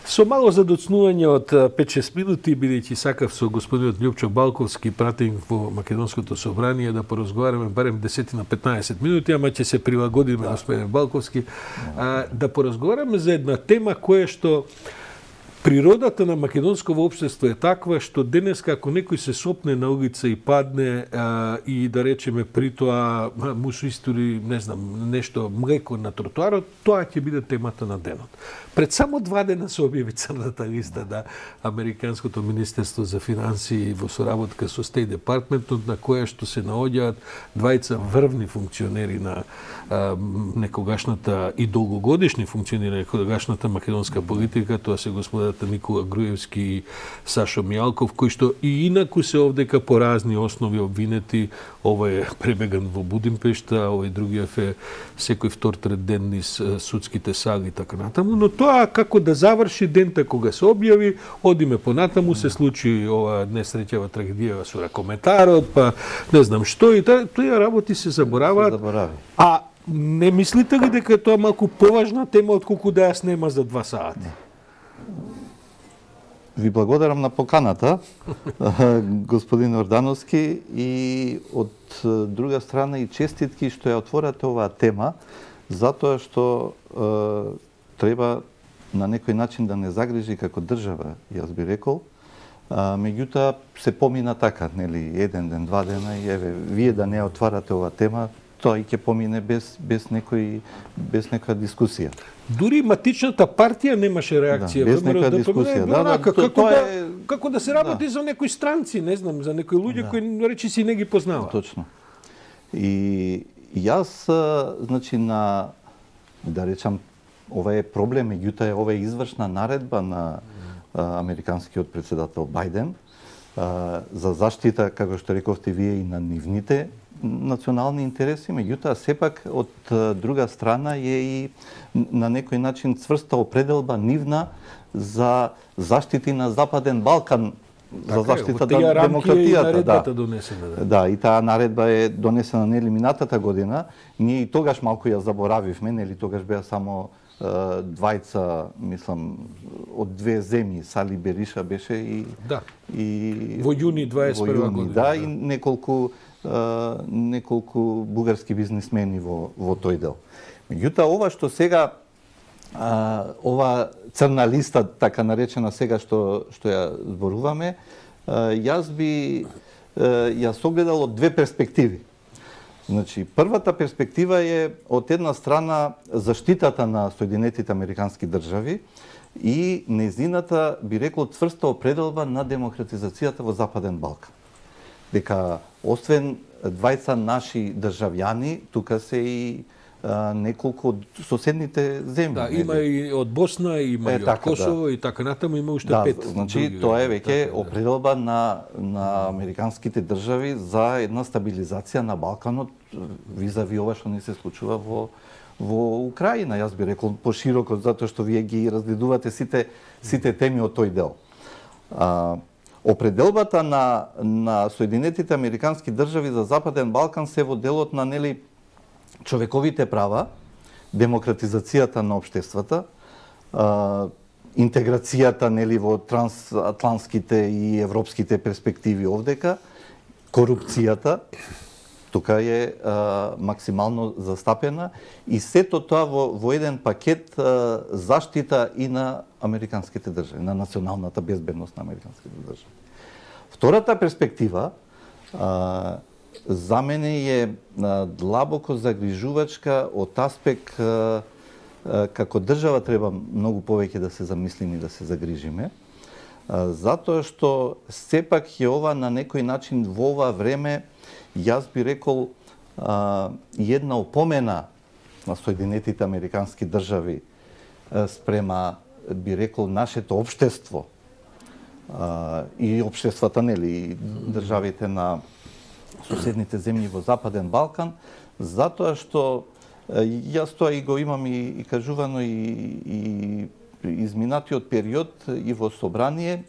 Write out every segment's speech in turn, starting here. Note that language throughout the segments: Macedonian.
Со мало задоцнување од 5-6 минути, бидејќи сакав со господинот Љупчо Балковски, пратеник во Македонското собрание, да поразговараме барем 10 на 15 минути, ама ќе се прилагодиме, господин Балковски, да поразговараме за една тема која што природата на македонското општество е таква што денеска ако некој се сопне на улица и падне и да речеме при тоа му се истори, не знам, нешто млеко на тротоарот, тоа ќе биде темата на денот. Пред само 2 дена се објави црната листа на Американското министерство за финансии во соработка со State Department, на која што се наоѓаат двајца врвни функционери на некогашната и долгогодишни функционери на некогашната македонска политика, тоа се господата Никола Груевски и Сашо Мијалков, кои што и инаку се овдека по разни основи обвинети. Овој е пребеган во Будимпешта, овој другиот е секој втор-трет ден низ судските саги и така натаму, но тоа како да заврши дента кога се објави, одиме понатаму, се случи ова несреќава трагедија со ракометарот, па не знам што и тие работи се забораваат. А не мислите ли дека тоа малку поважна тема отколку да ја снема за 2 сати? Ви благодарам на поканата, господин Ордановски, и од друга страна и честитки што ја отворате оваа тема, затоа што треба на некој начин да не загрижи како држава, јас би рекол. Меѓутоа се помина така, нели, 1 ден, 2 дена и еве вие да не отварате оваа тема, тоа и ќе помине без некоја дискусија. Дури матичната партија немаше реакција. Без некоја дискусија. Како да се работи за некои странци, не знам, за некои луѓе кои речи си не ги познаваат. Точно. И јас, значи, да речам, ова е проблем, меѓутоа ова е извршна наредба на американскиот председател Бајден за заштита, како што рековте вие, и на нивните национални интереси, меѓутоа сепак од друга страна е и на некој начин цврста определба нивна за заштити на Западен Балкан, за заштита на демократијата. Да, и таа наредба е донесена нели минатата година. Ние и тогаш малку ја заборавивме, нели тогаш беа само двајца, мислам, од 2 земји, Сали Бериша беше и во јуни 21 година. Да, и неколку бугарски бизнисмени во тој дел. Меѓутоа, ова што сега, ова црна листа, така наречена сега што ја зборуваме, јас огледал од 2 перспективи. Значи, првата перспектива е од една страна заштитата на Соединетите Американски држави и нејзината, би рекол, цврста определба на демократизацијата во Западен Балкан. Дека освен двајца наши државјани, тука се и неколку од соседните земји. Да, има и од Босна, има и од Косово и така натаму, има уште 5. Значи, тоа е веќе определба на американските држави за една стабилизација на Балканот визави ова што не се случува во Украина, јас би рекол пошироко, затоа што вие ги разгледувате сите теми од тој дел. Определбата на Соединетите Американски држави за Западен Балкан се во делот на нели човековите права, демократизацијата на општествата, интеграцијата нели во трансатлантските и европските перспективи овдека, корупцијата тука е максимално застапена и сето тоа во еден пакет заштита и на американските држави, на националната безбедност на американските држави. Втората перспектива за мене е длабоко загрижувачка од аспект како држава треба многу повеќе да се замислиме и да се загрижиме, затоа што сепак е ова на некој начин во ова време, јас би рекол, една опомена на Соединетите Американски држави спрема, би рекол, нашето општество и општествата, нели, државите на соседните земји во Западен Балкан, затоа што јас тоа и го имам и кажувано и изминатиот период и во собрание,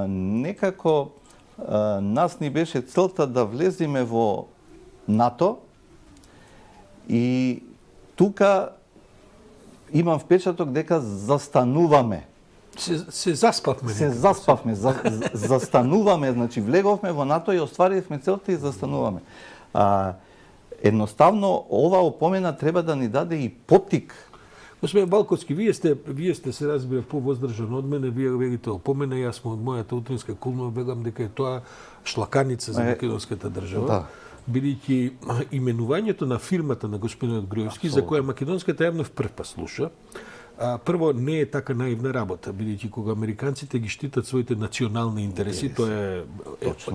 некако нас ни беше целта да влеземе во НАТО и тука имам впечаток дека застануваме Се заспавме. Се заспавме, застануваме, значи влеговме во НАТО и остваривме целта и застануваме. Едноставно ова опомена треба да ни даде и поттик. Господин Балковски, вие сте се разбира повоздржан од мене, вие велите опомена, јас сум од мојата утринска кулнова бегам дека е тоа шлаканица за македонската држава. Да. Бидејќи именувањето на фирмата на господинот Груевски, за која македонската јавност прв па слуша, прво не е така наивна работа, бидејќи кога американците ги штитат своите национални интереси, тоа е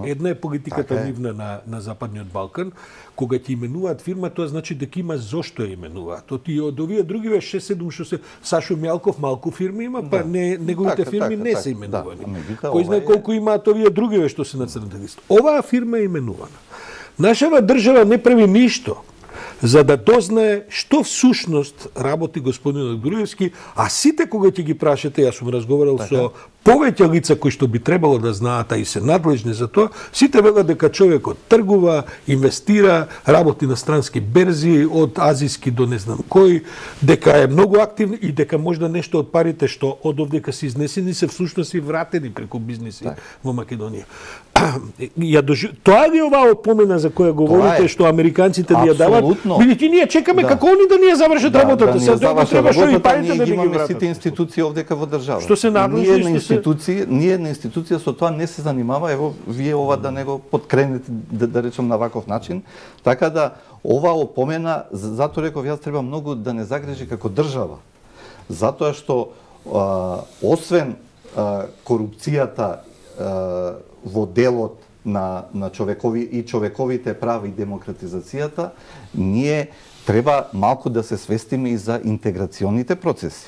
една е политиката нивна на Западниот Балкан, кога ќе именуваат фирма, тоа значи дека има зошто ја именуваат. И од овие други 6-7 што се Сашо Мјалков малку фирми има, па неговите фирми не се именувани. Кој знае колку имаат овие други што се на црната листа. Оваа фирма е именувана. Нашава држава не прави ништо за да дознае што всушност работи господинот Груевски, а сите кога ќе ги прашате, јас сум разговарал со повеќе лица кои што би требало да знаат, а и се надлежни за тоа, сите велат дека човекот тргува, инвестира, работи на странски берзи, од азиски до не знам кој, дека е многу активен и дека можда нешто од парите што од овдека се изнесени се всушност и вратени преку бизниси во Македонија. Тоа ли оваа опомена за која говорите што американците ни ја дават? Бидејќи ние чекаме како они да ни ја завршат работата. Ние ги имаме сите институции овдека во држава. Што се надлежни, ние на институција со тоа не се занимава, ево вие ова да не го подкренете да речем на ваков начин, така да ова опомена, затоа реков јас треба многу да не загрижи како држава. Затоа што освен корупцијата во делот на човековите права и демократизацијата, ние треба малку да се свестиме и за интеграционите процеси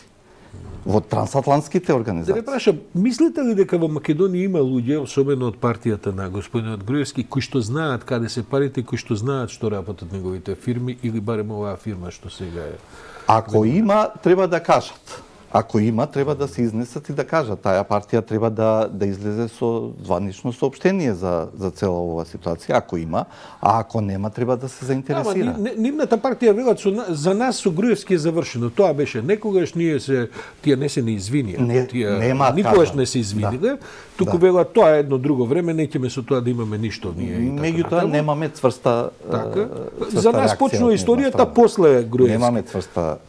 во трансатлантските организации. Да ве прашам, мислите ли дека во Македонија има луѓе, особено од партијата на господинот Груевски, кои што знаат каде се парите, кои што знаат што работат неговите фирми или барем оваа фирма што сега е? Ако има, треба да кажат. Ако има, треба да се изнесат и да кажат. Таа партија треба да излезе со званично соопштение за цела оваа ситуација, ако има, а ако нема, треба да се заинтересира. Нивната партија велат за нас со Груевски е завршено. Тоа беше некогаш, тие не се не извинија. Никогаш не се извиниле. Туку велат тоа е едно друго време, неќеме со тоа да имаме ништо ние. Меѓутоа немаме цврста за нас почнува историјата после Груевски. Немаме цврста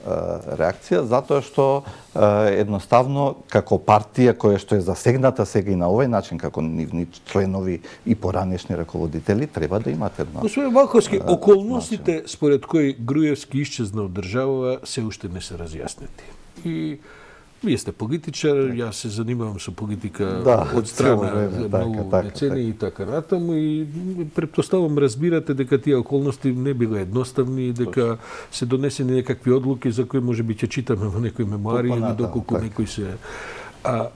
реакција затоа што едноставно како партија која што е засегната сега и на овој начин како нивни членови и поранешни раководители треба да имат едно. Господин Балковски, околностите според кои Груевски исчезна од држава се уште не се разјаснети. И вие сте политичар, јас се занимавам со политика од страна многу децении и така натаму и претпоставам разбирате дека тие околности не биле едноставни и дека се донесени некакви одлуки за кои можеби ќе читаме во некои мемуари или доколку некои се.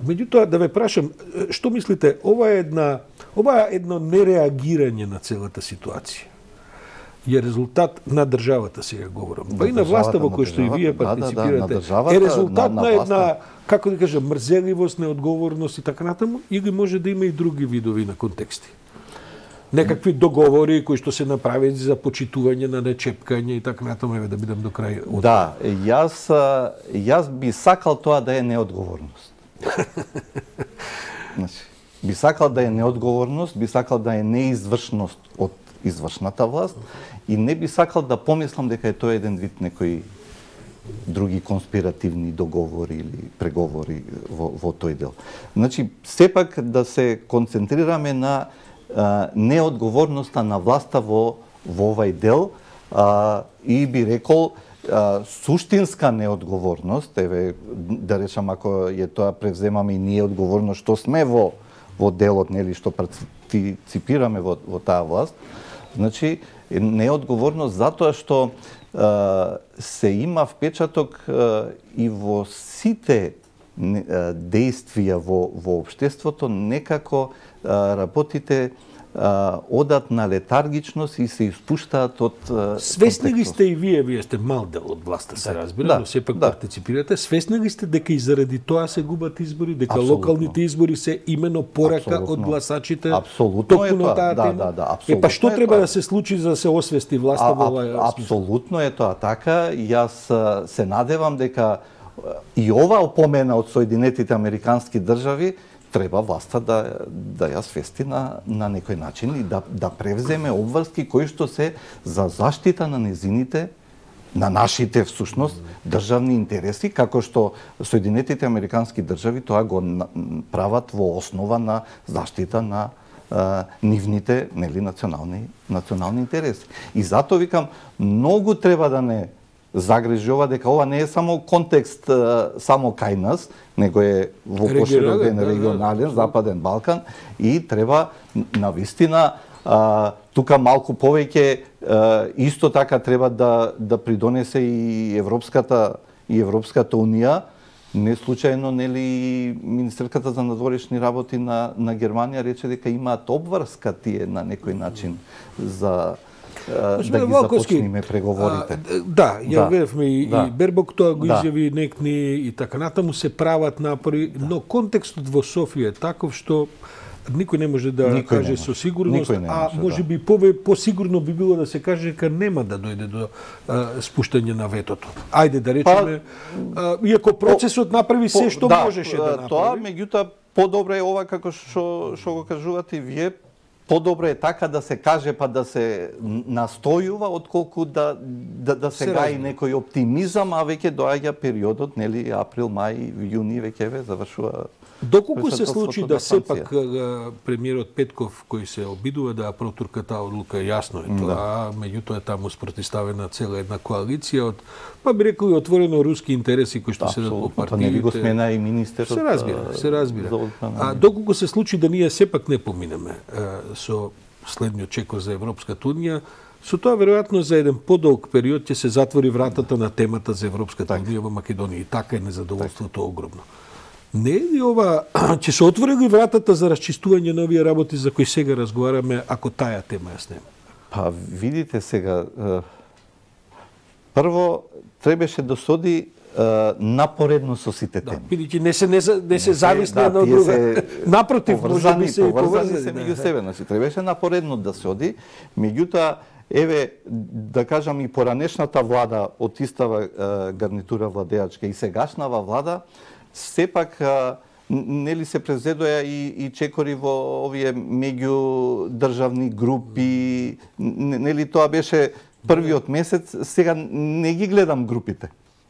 Меѓутоа да ве прашам, што мислите, ова е едно нереагирање на целата ситуација е резултат на државата, сега говорам. Па и на власта во која што и вие партиципирате, е резултат на една, како да кажам, мрзеливост, неодговорност и така натаму, или може да има и други видови на контексти? Некакви договори кои што се направени за почитување на нечепкање и така натаму, да бидам до крај. Да, јас би сакал тоа да е неодговорност. Би сакал да е неодговорност, би сакал да е неизвршност од извршната власт и не би сакал да помислам дека е тоа еден вид некои други конспиративни договори или преговори во тој дел. Значи, сепак да се концентрираме на неодговорноста на власта во овај дел и би рекол суштинска неодговорност, еве да речам ако е тоа превземаме и ние одговорност што сме во делот, нели, што партиципираме во таа власт, значи неодговорност затоа што се има впечаток и во сите действија во општеството некако работите одат на летаргичност и се испуштаат од свесни ли сте и вие сте мал дел од власта, се разбира, но сепак партиципирате, свесни ли сте дека и заради тоа се губат избори, дека локалните избори се имено порака од гласачите? Апсолутно е тоа. Да, па што треба да се случи за да се освести власта во оваа? Апсолутно е тоа така. Јас се надевам дека и ова опомена од Соединетите Американски држави треба власта да ја свести на некој начин и да превземе обврски кои што се за заштита на незините, на нашите всушност државни интереси, како што Соединетите Американски држави тоа го прават во основа на заштита на нивните, нели, национални интереси. И затоа викам, многу треба да не загрижува дека ова не е само контекст само кај нас, него е во поширок регионален Западен Балкан и треба навистина тука малку повеќе исто така треба да придонесе и Европската унија. Не случајно, нели, министерката за надворешни работи на Германија рече дека имаат обврска тие на некој начин за да ги започнеме преговорите. Да, ја веревме и Бербок тоа го изјави некни и така натаму се прават напори, но контекстот во Софија е таков што никој не може да каже со сигурност, а може би посигурно би било да се каже дека нема да дојде до спуштање на ветото. Ајде да речеме, иако процесот направи се што можеше да направи. Тоа, меѓутоа, подобро е ова како што го кажувате вие, подобро е така да се каже па да се настојува отколку да се гаи некој оптимизам, а веќе доаѓа периодот, нели, април, мај, јуни веќе завршува. Доколку се случи да сепак премиерот Петков кој се обидува да протурка таа одлука, јасно е тоа, меѓутоа таму спротивставена цела една коалиција од, па би рекол, отворено руски интереси кои што седат по партиите. Па нели го смена и министерот. Се разбира. А доколку се случи да ние сепак не поминеме со следниот чекор за Европската унија, со тоа веројатно за еден подолг период ќе се затвори вратата на темата за Европската унија во Македонија и така е незадоволството огромно. Не е ли ова, ќе се отвори ли вратата за расчистување на овие работи за кои сега разговараме, ако таа тема ја снема? Па, видите сега, прво, требаше да соди напоредно со сите теми. Бидејќи не се зависни една од друга. Напротив, може би се и поврзани се меѓу себе. Значи, требаше напоредно да се оди, меѓутоа, еве, да кажам, и поранешната влада од истава гарнитура владеачка и сегашнава влада, сепак нели се презедоја и чекори во овие меѓудржавни групи, нели тоа беше првиот месец, сега не ги гледам групите.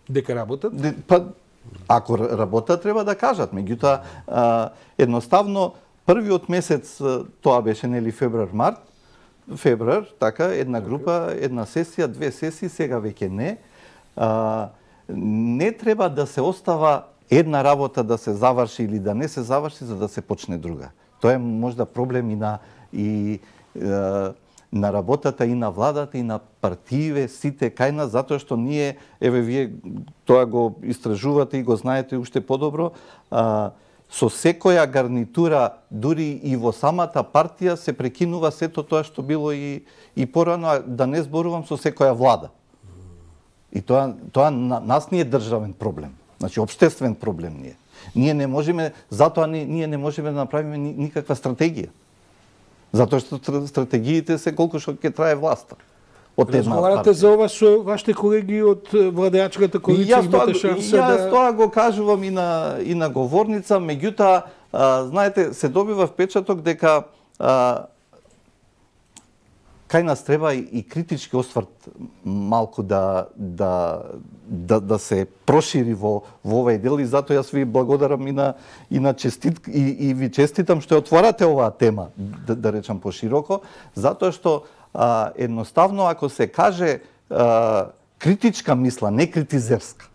Дека работат? Па, ако работат, треба да кажат. Меѓутоа, едноставно, првиот месец, тоа беше, нели, февруар, така, една група, една сесија, две сесии, сега веќе не. Не треба да се остава една работа да се заврши или да не се заврши за да се почне друга. Тоа е можда проблем и на работата и на владата и на партиите сите кај нас, затоа што ние, еве вие тоа го истражувате и го знаете уште подобро, со секоја гарнитура, дури и во самата партија се прекинува сето тоа што било и порано, да не зборувам со секоја влада. И тоа нас не е државен проблем. Значи, општествен проблем ние. Ние не можеме, затоа ние не можеме да направиме никаква стратегија. Затоа што стратегиите се колку што ќе трае власта. Разговарате за ова со вашите колеги од владеачката коалиција, имате шанса да... Јас тоа го кажувам и на говорница, меѓутоа, знаете, се добива впечаток дека кај нас треба и критички осврт малку да се прошири во овој дел и затоа јас ви благодарам и ви честитам што отворате оваа тема, да речам пошироко, затоа што едноставно ако се каже критичка мисла, не критизерска,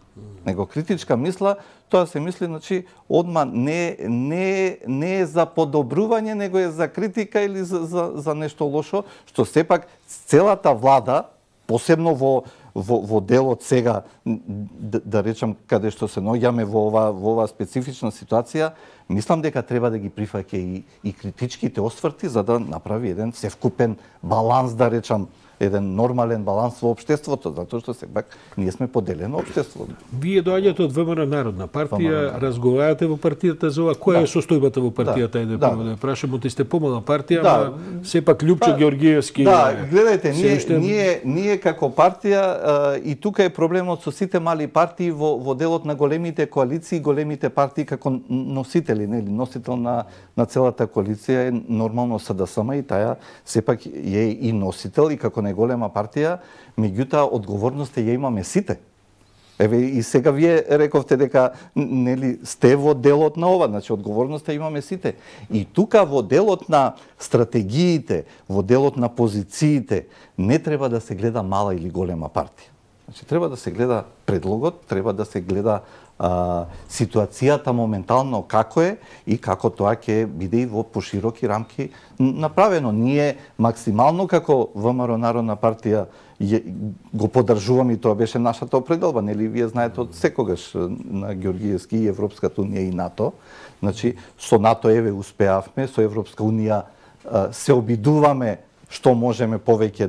него критичка мисла, тоа се мисли, значи, одма не е за подобрување, него е за критика или за нешто лошо, што сепак целата влада, посебно во делот сега, да речам, каде што се наоѓаме во ова специфична ситуација, мислам дека треба да ги прифаќа и критичките осврти, за да направи еден севкупен баланс, да речам, еден нормален баланс во општеството, затоа што сепак ние сме поделено општество. Вие доаѓате од ВМРО Народна партија, разговарате во партијата за ова. Која е состојбата во партијата? Ајде прво да прашам, ти сте помала партија, ама сепак Љупчо Георгиевски. Да, гледајте, ние како партија и тука е проблемот со сите мали партии во делот на големите коалиции, големите партии како носители, нели, носител на целата коалиција е нормално СДСМ и таа сепак е и носител и како најголема партија, меѓутоа одговорноста ја имаме сите. Еве и сега вие рековте дека нели сте во делот на ова, значи одговорноста имаме сите. И тука во делот на стратегиите, во делот на позициите, не треба да се гледа мала или голема партија. Значи треба да се гледа предлогот, треба да се гледа ситуацијата моментално како е и како тоа ќе биде и во пошироки рамки направено. Ние максимално како ВМРО Народна партија го поддржуваме и тоа беше нашата определба, нели вие знаете од секогаш на Георгиевски и Европската унија и НАТО. Значи со НАТО еве успеавме, со Европска унија се обидуваме што можеме повеќе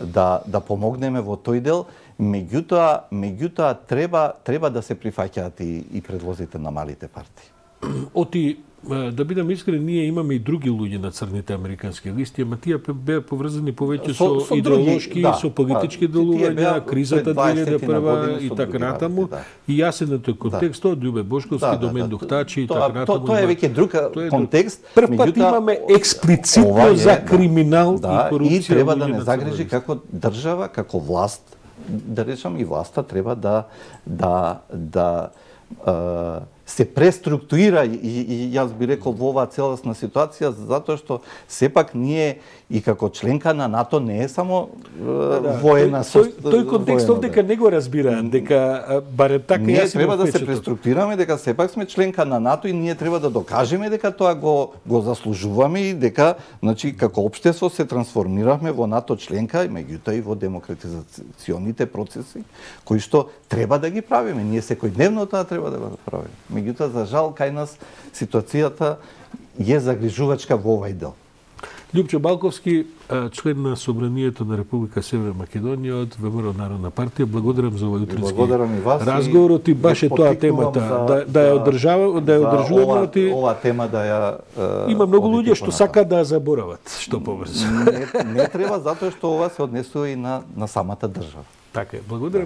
да помогнеме во тој дел. Меѓутоа треба да се прифаќаат и предлозите на малите партии. Оти, да бидам искрен, ние имаме и други луѓе на црните американски листи, ама тие беа поврзани повеќе со идеолошки, со политички делувања, кризата 2001 и така натаму. И јасен е контекст од Љубе Бошковски до Мендух Тачи и така натаму. Тоа е веќе друг контекст. Прв пат имаме експлицитно за криминал и корупција. И треба да не загрижи како држава, како власт, да речам и власта треба да се преструктурира и јас би рекол во оваа целосна ситуација, затоа што сепак ние и како членка на НАТО не е само воена тој контекст овдека не го разбираат, дека барем така ние треба да се преструктурираме, дека сепак сме членка на НАТО и ние треба да докажеме дека тоа го заслужуваме и дека значи како општество се трансформиравме во НАТО членка и меѓутоа и во демократизационите процеси кои што треба да ги правиме. Ние секојдневно тоа треба да го правиме. Меѓутоа, за жал, кај нас ситуацијата е загрижувачка во овај дел. Љупчо Балковски, член на Собранието на Република Северна Македонија од ВМРО Народна партија. Благодарам за овој утрински разговорот и баш е тоа темата да ја одржуваме. Ова тема да ја има многу луѓе што сакаат да ја заборават што побрзо. Не треба затоа што ова се однесува и на самата држава. Така е. Благодарам.